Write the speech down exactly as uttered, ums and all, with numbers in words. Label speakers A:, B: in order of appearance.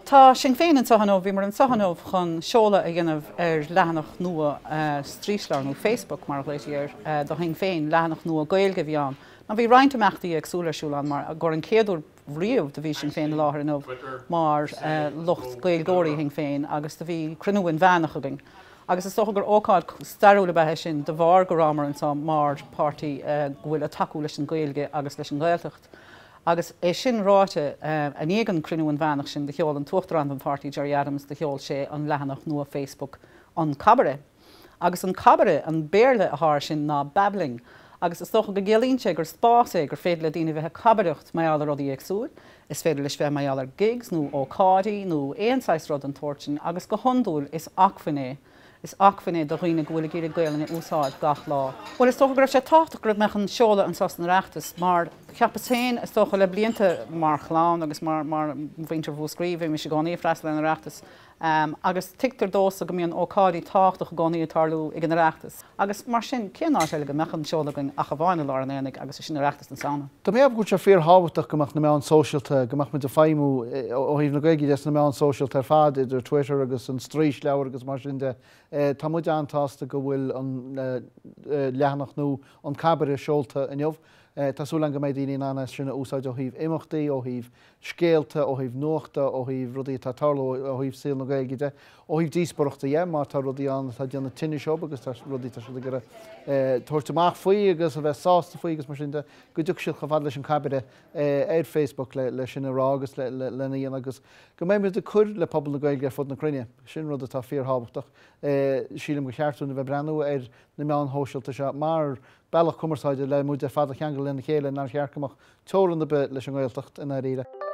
A: Tá Sinn Féin anseo inniu, bhíomar anseo inniu chun seoladh a dhéanamh ar leathanach nua straoisleabhar nó Facebook mar a ghlaoití air do Shinn Féin, leathanach nua Gaeilge a bhí ann. Now bhí roinnt imeachtaí éagsúla ar siúl ann mar gur an chéad uair riamh do bhí Sinn Féin i láthair inniu mar lucht Gaeilgeoirí Shinn Féin agus do bhí cruinniú inmheánach againn. Agus is dócha gur ócáid stairiúil ab ea é sin de bharr go rabhamar anseo mar páirtí go bhfuil ag tacú leis an Ghaeilge agus leis an Ghaeltacht. Agus é sin ráite, i ndiaidh an cruinniú inmheánach sin do sheol an tUachtarán den pháirtí Gerry Adams do sheol sé an leathanach nua Facebook an Cabaire. Agus an Cabaire, an Béarla atá air sin ná babbling. Agus is dócha go gciallaíonn sé gur spás é gur féidir le daoine bheith ag cabaireacht mar gheall ar rudaí éagsúil, is féidir leis bheith mar gheall ar gigs nó ócáidí nó aon saghas rud den tsórt sin agus go hiondúil is acmhainn é Is acmhainn é do dhaoine go bhfuil ag iarraidh Gaelainn a úsáid gach lá. Bhuel, is dócha go raibh sé tábhachtach go mbeadh an seoladh anseo san Oireachtas mar cheapas féin, is dócha, le blianta mar chlann agus mar mar mhuintir Mhúscraí, bhímis i gcónaí ag freastal ar an Oireachtas agus tuigtear domhsa go mbíonn ócáidí tábhachtach i gcónaí ag tarlú ag an Oireachtas agus mar sin cén áit eile go mbeadh an seoladh againn ach amháin i lár an aonaigh agus sin Oireachtas na Samhna.
B: Tá mé ag ceapadh go bhfuil sé fíorthábhachtach go mbeadh na meáin sóisialta, go mbeadh muid ag feidhmiú ó thaobh na Gaeilge de sna meáin sóisialta ar fad, idir Twitter agus an straoisleabhar agus mar sin de. Tá muid an-tsásta go bhfuil an leathanach nua An Cabaire seolta inniu. Tá súil agam go mbeidh daoine in ann é sin a úsáid ó thaobh imeachtaí, ó thaobh scéalta, ó thaobh nuachta, ó thaobh rudaí atá ag tarlú ó thaobh saol na Gaeilge de, ó thaobh díospóireachta dhe, má tá rudaí ann atá ag déanamh tinnis dóibh agus tá rudaí atá siad ag iarraidh tabhairt amach faoi agus a bheith sásta faoi agus mar sin de, go dtiocfaidh siad chomh fada leis an Cabaire ar Facebook le sin a rá agus lena dhéanamh agus go mbeidh muid ag cur le pobal na Gaeilge ar fud na cruinne. Sin rud atá fíorthábhachtach. Sílim gur cheart dúinn a bheith ag breathnú ar na meáin shóisialta seo mar bealach cumarsáide le muid ar fad a cheangal lena chéile nár cheart go mbeadh teorainn ar bith leis an nGaeltacht i ndáiríre.